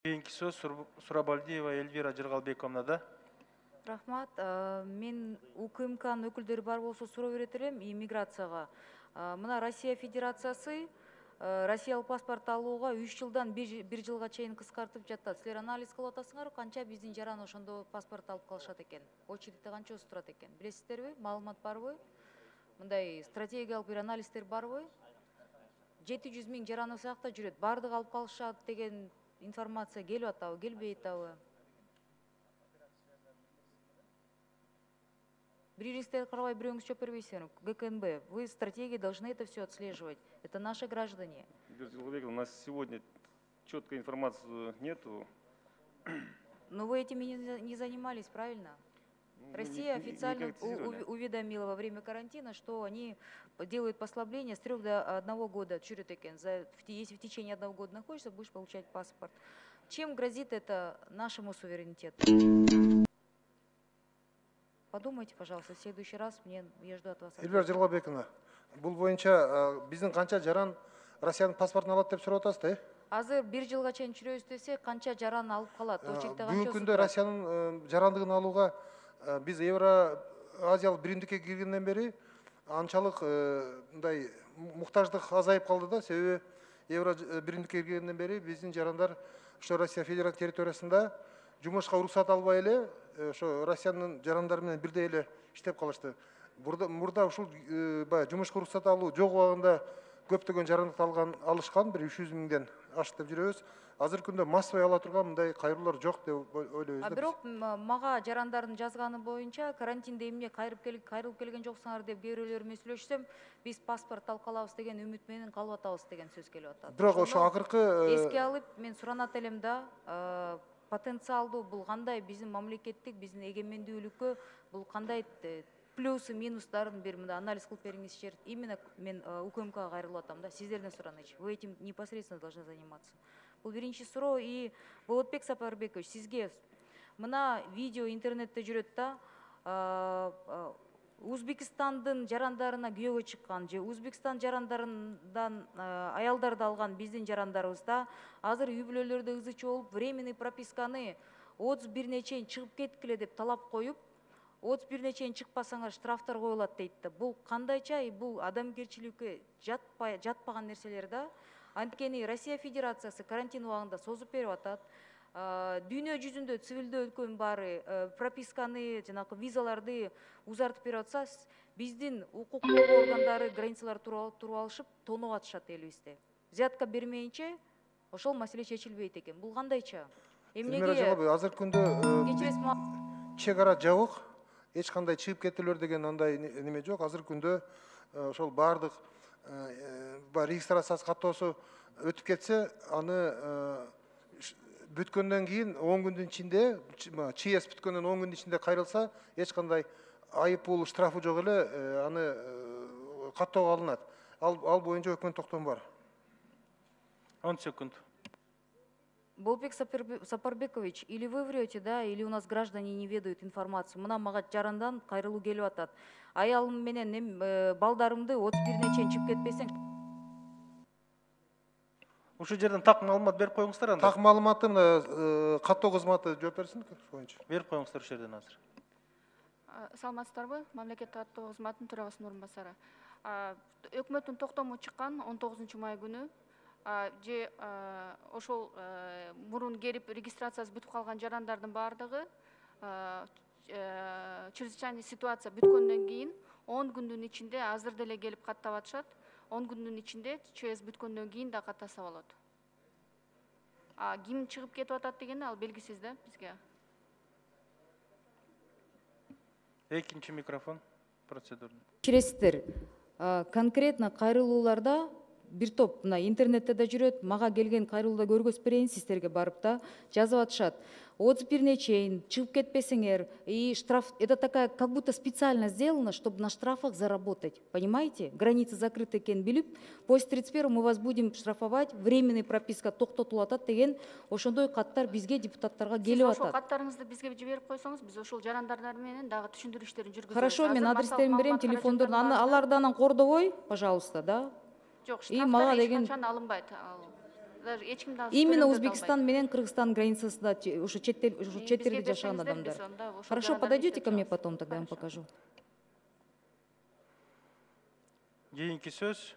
Кийинки сөз Сурабалдиева Эльвира Жыргалбековна да. Рахмат. Мен УКМКнын өкүлдөрү бар болсо суроо берет элем иммиграцияга. Мына Россия Федерациясы Россиялык паспорт алууга 3 жылдан 1 жылга чейин кыскартып жатат. Силер анализ кылып атасыңарбы, канча биздин жаран ошондо паспорт алып калышат экен? Очередте канча өзү турат экен? Билесиздерби? Маалымат барбы? Мындай стратегиялык бир анализдер барбы? 700 000 жаран осы жакта жүрөт. Бардыгы алып калышат деген информация келип атабы, келбей атабы? Биринизге карабай бирөөңүз жооп бербейсиңер. ГКНБ, вы стратегии должны это все отслеживать. Это наши граждане. У нас сегодня четкой информации нету. Но вы этим не занимались, правильно? Россия официально уведомила во время карантина, что они делают послабление с 3 до 1 года. Если в течение 1 года находишься, будешь получать паспорт. Чем грозит это нашему суверенитету? Подумайте, пожалуйста, в следующий раз я жду от вас. Эльвира Жыргалбековна, бул боюнча биздин канча жаран Россиянын паспортун алат деп сурап атасыз да? Азыр 1 жылга чейин жүрөбүз десе, канча жаран алып калат? Бүгүнкү күндө Россиянын жарандыгын алууга биз Евразиялык биримдикке киргенден бери анчалык мындай муктаждык азайып калды да, себеби Евро биримдикке киргенден бери биздин жарандар ошо Россия Федерация территориясында жумушка уруксат албай эле ошо Россиянын жарандары менен бирдей эле иштеп калышты. Мурда ушул баягы жумушка уруксат алуу жок убагында көптөгөн жарандыкты алышкан, бир 300 000ден ашык деп жүрөбүз. Азыркы күндө массовый ала турган мындай кайрылуулар жок деп ойлойбуз да. Бирок мага жарандардын жазганы боюнча карантинде эмне кайрылып келген жоксуңар деп кээ бирөөлөр менен сүйлөшсөм, биз паспорт алып калабыз деген үмүт менен калып атабыз деген сөз келип атат. Бирок ошо акыркы эске алып мен суранат элем да, потенциалдуу бул кандай биздин мамлекеттик, биздин эгемендүүлүккө бул кандай плюсы, минустарын бир мында анализ кылып бериңизчи. Именно мен УКМКга кайрылып атам да, сиздерден суранычы. Вы этим непосредственно должны заниматься. Бул биринчи суроо. И Болотбек Сапарбекович, сизге мына видео интернетте жүрөт да, Узбекистандын жарандарына күйөөгө чыккан же Узбекистан жарандарынан аялдарды алган биздин жарандарыбызда азыр үй бүлөлөрдө ызычы болуп, временный прописканы 31-не чейин чыгып кеткиле деп талап коюп, 31-не чейин чыкпасаңар штрафтар коюлат дейт да. Бул кандайча, бул адамгерчиликке жатпаган нерселер да. Анткени Россия Федерациясы карантин убагында созуп берип атат. Дүйнө жүзүндө цивилдүү өлкөнүн баары прописканы, жанагы визаларды узартып берип атса, биздин укук коргоо органдары границалар туруп алышып, тоноо атышат элибизде. Взятка бермейинче ошол маселе чечилбейт экен. Бул кандайча? Эмнеге? Азыркы күндө чек ара жабык, эч кандай чыгып кетүүлөр деген андай неме жок. Азыркы күндө ошол баардык регистрациясы каттоосу өтүп кетсе, аны бүткөндөн кийин 10 күндүн ичинде, ЧС бүткөндөн 10 күндүн ичинде кайрылса, эч кандай айып пул штрафы жок эле, аны каттоого алынат. Ал боюнча өкмөт токтому бар. 10 секунд. Болотбек Сапарбекович, или вы врете, да, или у нас граждане не ведают информацию. Мына мага жарандан кайрылуу келип атат. Аялым менен балдарымды 31-не чейин чыгып кетпесең. Ушул жерден так маалымат берип коюңуздар анда. Так маалыматты каттоо кызматы жооп берсин боюнча. Берип коюңуздар ушул жерден азыр. Саламатсыздарбы? Мамлекеттик каттоо кызматынын төрагасынын орун басары. Өкмөттүн токтому чыккан 19 май күнү. Же ошол мурун келип регистрациясы бүтүп калган жарандардын баардыгы чрезвычайный ситуация бүткөндөн кийин 10 күндүн ичинде азыр деле келип каттап атышат. 10 күндүн ичинде ЧС бүткөндөн кийин да каттаса болот. Ким чыгып кетип атат дегени ал белгисиз да бизге. Экинчи микрофон процедура. Киресиздер, конкретно кайрылууларда бир топ мына интернетте да жүрөт, мага келген кайрылууда көргөзүп берейин сиздерге барып да жазып атышат. 31-не чейин чыгып кетпесеңер, и штраф, это такая как будто специально сделано, чтобы на штрафах заработать. Понимаете? Границы закрыты экенин билип, после 31 мы вас будем штрафовать, временный прописка токтотулуп атат деген ошондой каттар бизге депутаттарга келип атат. Сиз ошол каттарыңызды бизге жиберип койсоңуз, биз ошол жарандар менен дагы түшүндүрүү иштерин жүргүзөбүз. Хорошо, мен адрестерин берем, телефондорун, аларды анан кордобой, пожалуйста, да. Жок, штрафтар эч качан алынбайт. даже эч ким да Именно Узбекистан менен Кыргызстан границасында ушу чет элде жашаган адамдар. Хорошо, подойдете ко мне потом, тогда я вам покажу. Кийинки сөз